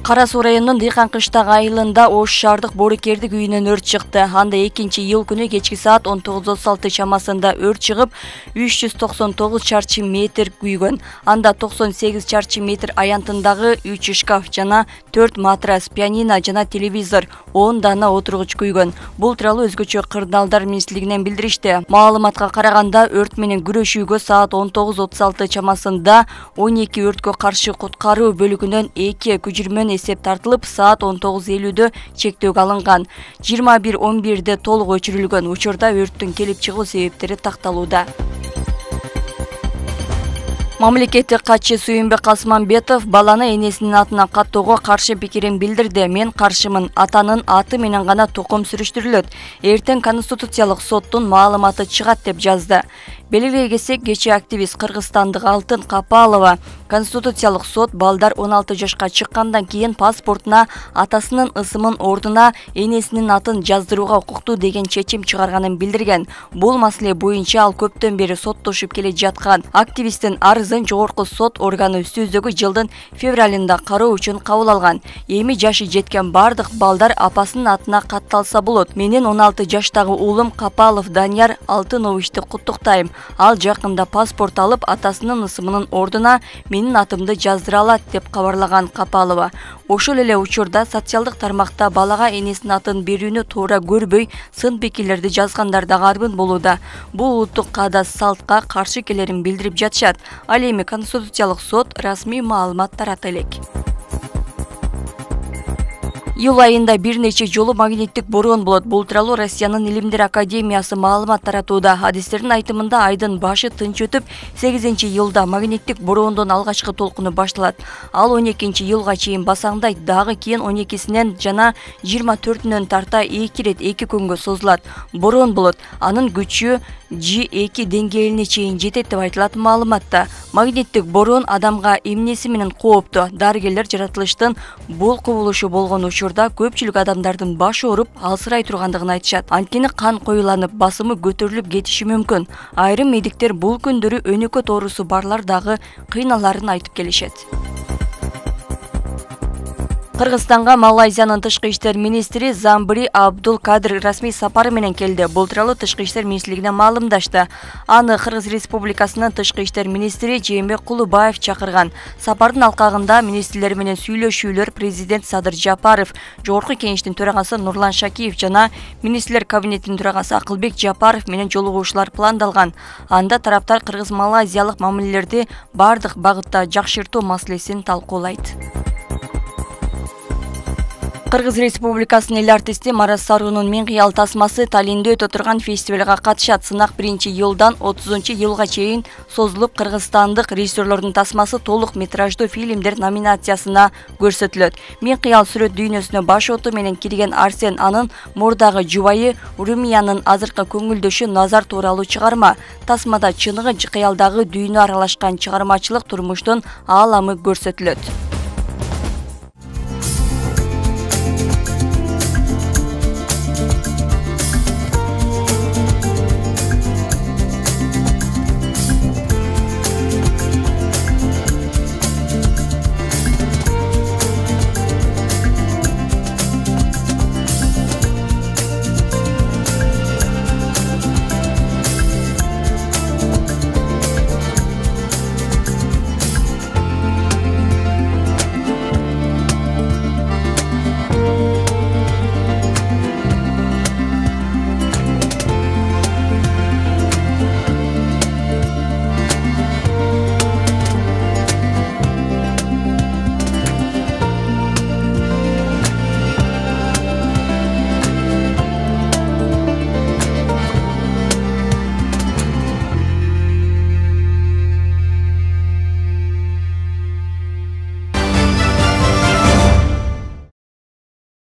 Кара Суу районунун Дыйкан кыштак айылында Ош шаардык боорукердик үйүнөн өрт чыкты. Анда 2-iyul күнү кечки саат 19:36 чамасында өрт чыгып, 399 чарчы метр күйгөн. Анда 98 чарчы метр аянтындагы 3 шкаф жана 4 матрас, пианино жана телевизор, 10 дана отургуч күйгөн. Бул тууралуу өзгөчө кырдаалдар министрлигинен билдиришти. Маалыматка караганда өрт менен күрөшүүгө саат 19:36 чамасында 12 өрткө каршы куткаруу бөлүгүнөн 2 күчүрмөн эсеп тартылып, саат 19:50 чектөөгө алынган. 21:11 толук өчүрүлгөн. Учурда өрттүн келип чыгуу себептери такталууда. Мамлекеттик катчы Сүйүнбек Касманбетов баланы энесинин атына каттоого каршы пикирин билдирди. Мен каршымын. Атанын аты менен гана тукум сүрүштүрүлөт. Эртең Конституциялык соттун маалыматы чыгат деп жазды. Белгилей кетсек, кечээ активист кыргызстандык Алтын Капалова Конституциялык сот балдар 16 жашка чыккандан кийин паспортуна атасынын ысымын ордуна энесинин атын жаздырууга укуктуу деген чечим чыгарганын билдирген. Бул маселе боюнча ал көптөн бери соттошуп келе жаткан. Активисттин арызын жогорку сот органы үстүздөгү жылдын февралында кароо үчүн кабыл алган. Эми жашы жеткен бардык балдар апасынын атына катталса болот. Менин 16 жаштагы уулум Капалов Данияр Алтыновичти куттуктайм. Ал жакында паспорт алып, атасынын ысымынын ордуна менин атымды жаздыра алат деп кабарлаган Капалова. Ошол эле учурда социалдык тармакта балага энесинин атын берүүнү туура көрбөй, сын пикирлерди жазгандар да арбын болууда. Бул улуттук каада салтка каршы келерин билдирип жатышат. Ал эми Конституциялык сот расмий маалымат тарата элек. Июль айында бир нече жолу магниттик бороон болот. Бул тууралуу Россиянын Илимдер академиясы маалымат таратууда. Адистердин айтымында айдын башы тынч өтүп, 8-iyulda магниттик бороондун алгачкы толкуну башталат. Ал 12-iyulга чейин басаңдайт, дагы кийин 12-синен жана 24-үнөн тарта 2 рет 2 күнгө созулат. Бороон болот. Анын күчү G2 деңгээлине чейин жетет деп айтылат маалыматта. Магниттик бороон адамга эмнеси менен кооптуу? Дарыгерлер жаратылыштын бул кубулушу болгон учурда көпчүлүк адамдардын башы ооруп, алсырай тургандыгын айтышат. Анткени кан коюланып, басымы көтөрүлүп кетиши мүмкүн. Айрым медиктер бул күндөрү өнөкөт оорусу барлар дагы кыйналарын айтып келишет. Кыргызстанга Малайзиянын тышкы иштер министри Замбри Абдул Кадыр расмий сапары менен келди. Бул тууралуу тышкы иштер министрлигинен маалымдашты. Аны Кыргыз Республикасынын тышкы иштер министри Жээнбек Кулубаев чакырган. Сапардын алкагында министрлер менен сүйлөшүүлөр президент Садыр Жапаров, жогорку кеңештин төрагасы Нурлан Шакиев жана министрлер кабинетинин төрагасы Акылбек Жапаров менен жолугушуулар пландалган. Анда тараптар кыргыз-малайзиялык мамилелерди бардык багытта жакшыртуу маселесин талкуулайт. Кыргыз Республикасынын эл артисти Марат Саруунун Мен кыял тасмасы Таллиндө өтө турган фестивалга катышат. Сынак 1-iyuldan 30-iyulга чейин созулуп, кыргызстандык режиссерлордун тасмасы толук метраждуу фильмдер номинациясына көрсөтүлөт. Мен кыял сүрөт дүйнөсүнө баш оту менен кирген Арсен анын мурдагы жубайы Румиянын азыркы көңүлдөшү Назар тууралуу чыгарма. Тасмада чыныгы кыялдагы дүйнө аралашкан чыгармачылык турмуштун ааламы көрсөтүлөт.